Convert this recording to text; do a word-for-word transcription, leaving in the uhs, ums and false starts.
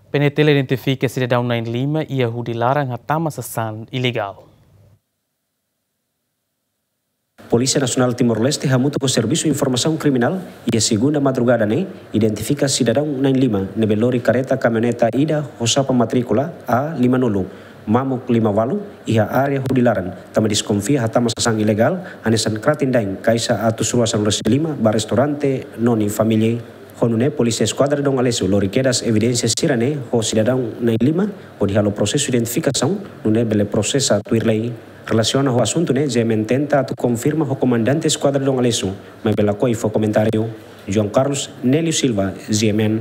PNTL identifika sidadaun na'in-lima iha hudi laran hatama sasán ilegál. Polísia Nasionál Timor-Leste hamutuk ho Servisu Informasaun Kriminál iha segunda madrugada ne'e identifika sidadaun na'in-lima ne'ebé lori kareta kamioneta ida ho xapa matríkula A lima nulu mamuk lima ualu iha área hudi laran, tanba deskonfia hatama sasán ilegál hanesan kratin dain, kaixa atus rua sanulu-resin-lima ba restaurante Noni Família. Ho nune'e Polísia Eskuadra Dom Aleixo lori kedas evidénsia sira-ne'e ho sidadaun na'in-lima hodi halo prosesu identifikasaun, nune'e bele prosesa tuir lei. Relasiona ho asuntu ne'e, GMN tenta atu konfirma ho Komandante Eskuadra Dom Aleixo, maibé lakohi fó komentáriu. João Carlos, Nélio Silva, GMN.